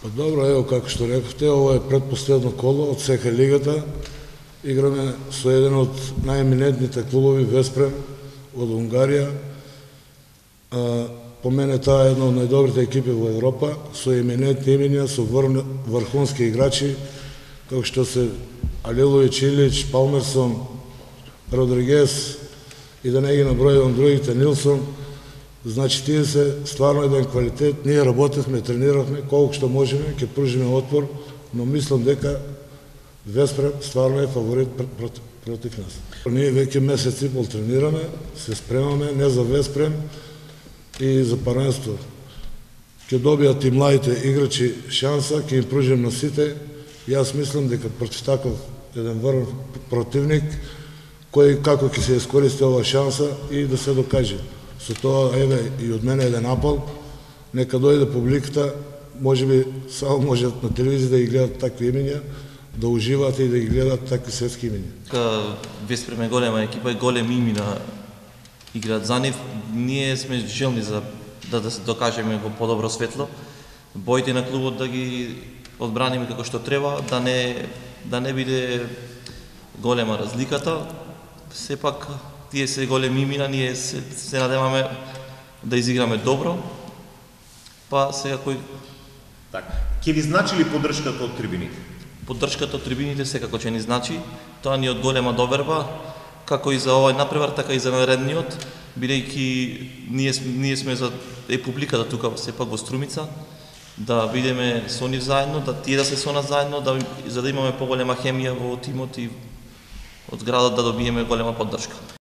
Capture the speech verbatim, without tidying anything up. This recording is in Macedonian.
Па добро, ево како што рековте, ова е предпоследно коло од СХ лигата. Играме со еден од најеминентните клубови Веспрем од Унгарија. А, по мене таа е една од најдобрите екипи во Европа, со еминентни имиња, со врхунски играчи, како што се Алилович, Илич, Палмерсон, Родригес и да не ги набројувам другите, Нилсон. Значи, тие се стварно еден квалитет. Ние работевме, тренирахме, колку што можеме, ќе пружиме отпор, но мислам дека Веспрем стварно е фаворит против, против нас. Ние веќе месец и пол тренираме, се спремаме не за Веспрем и за паренство. Ќе добијат и младите играчи шанса, ќе им пружим на сите. Јас мислам дека против таков еден врв противник, кој како ќе се искористи ова шанса и да се докаже. Со тоа, еве, и од мене еден апел, нека дојде публиката, можеби само можат на телевизија да ги гледат такви имиња, да уживаат и да ги гледат такви светски имиња. Веспрем е голема екипа и големи имена играат за нив. Ние сме желни за да, да се докажеме во подобро светло. Боите на клубот да ги одбраниме како што треба, да не да не биде голема разликата. Сепак тие се големи имена, ние се, се надеваме да изиграме добро. Па сега кој така, ќе ви значи ли поддршката од трибините? Поддршката од трибините секако ќе ни значи. Тоа ни од голема доверба, како и за овој напревар, така и за наредниот, бидејќи ние ние сме за е публиката тука сепак во Струмица, да бидеме со нив заедно, да тие да се со нас заедно, да за да имаме поголема хемија во тимот и од градот да добиеме голема поддршка.